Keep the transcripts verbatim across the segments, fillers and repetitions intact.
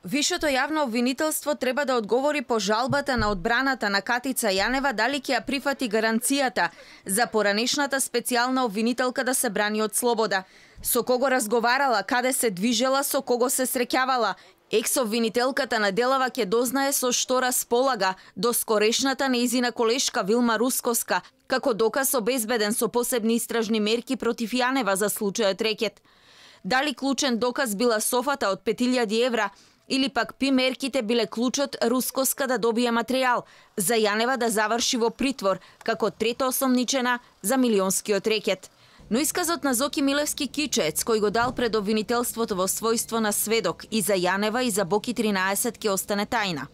Вишето јавно обвинителство треба да одговори по жалбата на одбраната на Катица Јанева дали ќе ја прифати гаранцијата за поранешната специјална обвинителка да се брани од слобода. Со кого разговарала, каде се движела, со кого се среќавала. Екс-обвинителката на делава ќе дознае со што располага до скорешната нејзина колешка Вилма Рускоска, како доказ обезбеден со посебни истражни мерки против Јанева за случајот рекет. Дали клучен доказ била софата од пет илјади евра, или пак пи мерките биле клучот Рускоска да добие материјал за Јанева да заврши во притвор како трета осомничена за милионскиот рекет. Но исказот на Зоки Милевски Кичец, кој го дал пред обвинителството во својство на сведок и за Јанева и за Боки тринаесет ќе остане тајна.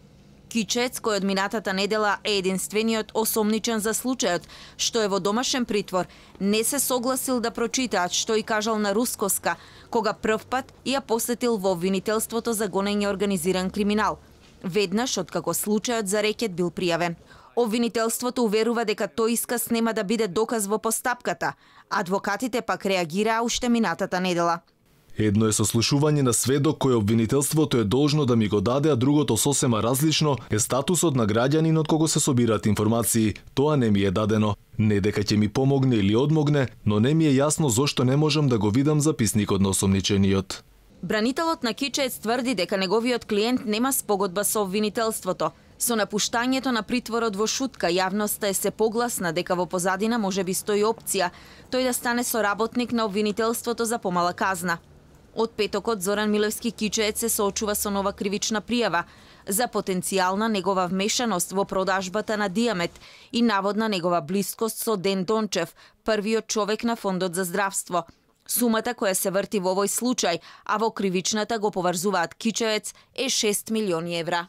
Кичец, кој од минатата недела е единствениот осомничен за случајот, што е во домашен притвор, не се согласил да прочитаат што и кажал на Рускоска, кога првпат ја посетил во обвинителството за гонење организиран криминал, веднаш откако случајот за рекет бил пријавен. Обвинителството уверува дека тој исказ нема да биде доказ во постапката, адвокатите пак реагираа уште минатата недела. Едно е сослушување на сведок кој обвинителството е должно да ми го даде, а другото сосема различно е статусот на граѓанин од кого се собираат информации. Тоа не ми е дадено. Не дека ќе ми помогне или одмогне, но не ми е јасно зошто не можам да го видам записникот на осомничениот. Бранителот на Кичец тврди дека неговиот клиент нема спогодба со обвинителството. Со напуштањето на притворот во шутка, јавноста е се погласна дека во позадина може би стои опција тој да стане соработник на обвинителството за помала казна. Од петокот Зоран Милевски Кичец се соочува со нова кривична пријава за потенцијална негова вмешаност во продажбата на Диамет и наводна негова блискост со Ден Дончев, првиот човек на Фондот за здравство. Сумата која се врти во овој случај, а во кривичната го поврзуваат Кичец, е шест милиони евра.